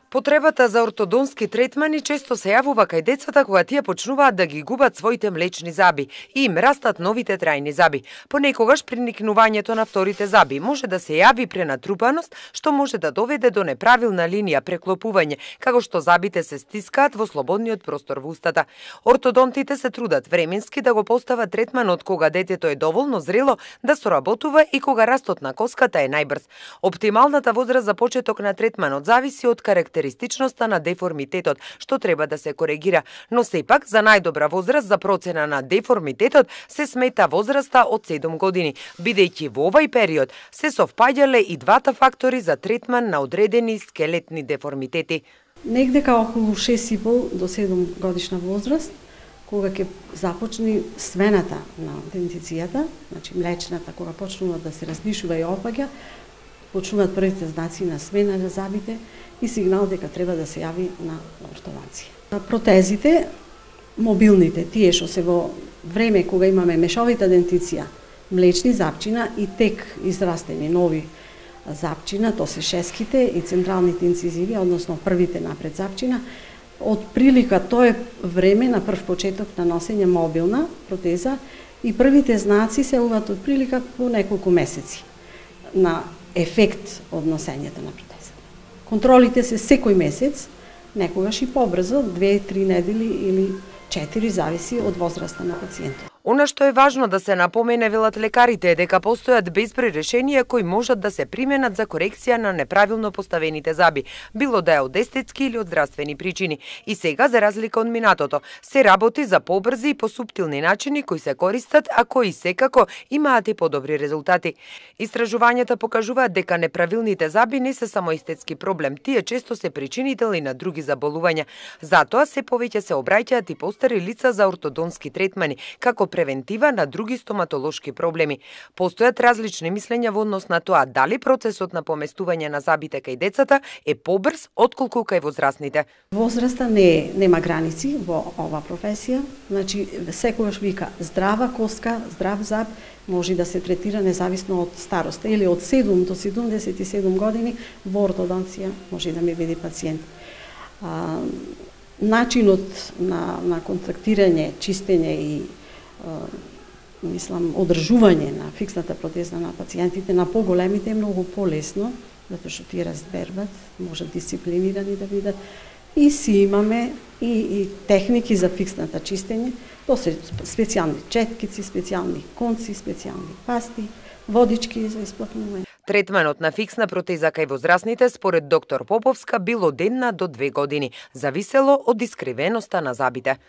Потребата за ортодонски третмани често се јавува кај децата кога тие почнуваат да ги губат своите млечни заби и им растат новите трајни заби. Понекогаш приникнувањето на вторите заби може да се јави пренатрупаност, што може да доведе до неправилна линија преклопување, како што забите се стискаат во слободниот простор во устата. Ортодонтите се трудат временски да го постават третманот кога детето е доволно зрело да соработува и кога растот на коската е најбрз. Оптималната возраст за почеток на третманот зависи од карактеристичноста на деформитетот, што треба да се коригира, но сепак за најдобра возраст за процена на деформитетот се смета возраста од 7 години, бидејќи во овај период се совпаѓале и двата фактори за третман на одредени скелетни деформитети. Негде као околу 6,5 до 7 годишна возраст, кога ќе започне свената на дентицијата, значи млечната, кога почнува да се разнишува и опаѓа, почнуваат првите знаци на смена на забите и сигнал дека треба да се јави на ортодонција. Протезите, мобилните, тие што се во време кога имаме мешовита дентиција, млечни запчина и тек израстени нови запчина, то се шеските и централните инцизиви, односно првите напред запчина, од прилика тоа е време на прв почеток на носење мобилна протеза и првите знаци се јавуваат од прилика по неколку месеци на ефект од носењето на протеза. Контролите се секој месец, некогаш и побрзо, 2-3 недели или 4, зависи од возраста на пациентот. Она што е важно да се напомене, велат лекарите, е дека постојат безброј решенија кои можат да се применат за корекција на неправилно поставените заби, било да е од естетски или од здравствени причини. И сега, за разлика од минатото, се работи за побрзи и посуптилни начини кои се користат, а кои секако имаат и подобри резултати. Истражувањата покажуваат дека неправилните заби не се само естетски проблем, тие често се причинител и на други заболувања. Затоа се повеќе се обраќаат и постари лица за ортодонски третмани, како превентива на други стоматолошки проблеми. Постојат различни мислења во однос на тоа дали процесот на поместување на забите кај децата е побрз отколку кај возрастните. Возраста нема граници во ова професија, значи секогаш вика здрава коска, здрав заб може да се третира независно од староста или од 7 до 77 години во ортодонција може да ми биде пациент. Начинот на контрактирање, чистење и мислам, одржување на фиксната протеза на пациентите на поголемите е многу полесно, затоа што тие разбербат, можат дисциплинирани да бидат. И си имаме и техники за фиксната чистење, то се специјални четкици, специјални конци, специјални пасти, водички за исплакнување. Третманот на фиксна протеза кај возрастните, според доктор Поповска, бил од 1 до 2 години, зависело од искривеноста на забите.